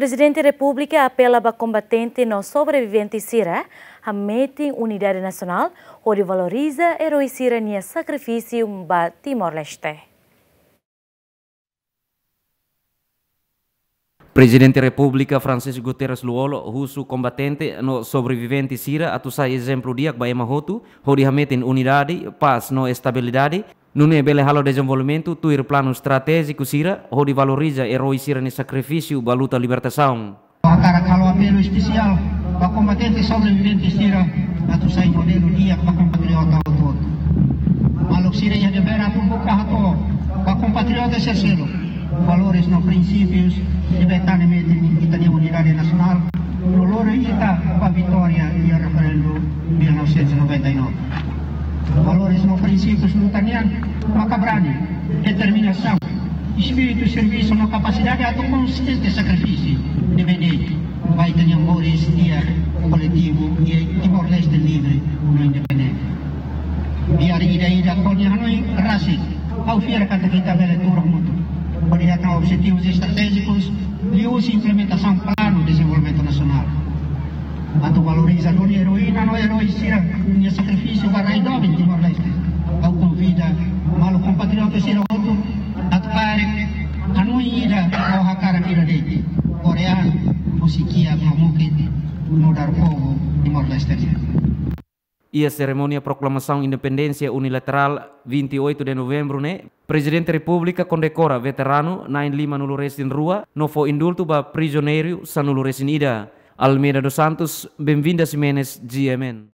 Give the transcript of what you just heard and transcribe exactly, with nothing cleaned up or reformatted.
Prezidente Repúblika apela ba kombatente no sobrevivente sira hametin unidade nasionál hodi valoriza eroi sira-nia sakrifísiu ba Timor-Leste. Prezidente Repúblika Francisco Guterres Lú-Olo husu kombatente no sobrevivente sira atu sai ezemplu di'ak ba ema hotu, hodi hametin unidade, pás no estabilidade, nune'e bele halo dezenvolvimentu tuir planu estratéjiku sira, hodi valoriza eroi sira-nia sakrifísiu ba luta libertasaun. Hakarak halo apelu espesiál ba kombatente sobrevivente sira atu sai modelu di'ak ba kompatriota hotu-hotu. Maluk sira iha devér atu buka hato'o ba kompatriota sira seluk valores no prinsípius ne'ebé tane metin ita-nia unidade nasionál no lori ita ba vitória iha referendu mil novecentos e noventa e nove. Valores no prinsípius luta nian maka brani, determinasaun, espíritu servisu no kapasidade atu konsistiente sakrifísiu ne'ebé de'it ba ita-nia moris di'ak koletivu iha Timor-Leste livre no independente. Biar ida-idak ho nia hanoin rasik, ha'u fiar katak ita bele tuur hamutuk hodi hatán objetivus estratéjikus liuhusi implementasaun planu dezenvolvimentu nasionál. Atu valoriza duni eroína no eroi sira-nia sakrifísiu ba rai doben Timor-Leste. Ha'u konvida maluk kompatriota sira hotu atu kaer hanoin ida no hakarak ida de'it. Korean, husi kiak no mukit, nu'udar povu Timor-Leste nian. Iha serimónia proklamasaun independénsia unilaterál vinte e oito de novembro ne'e, Prezidente Repúblika kondekora veteranu na'in lima-nulu resin rua no fó indultu ba prizioneiru sanulu resin ida. Almeida dos Santos, Benvinda Ximenes, G M N.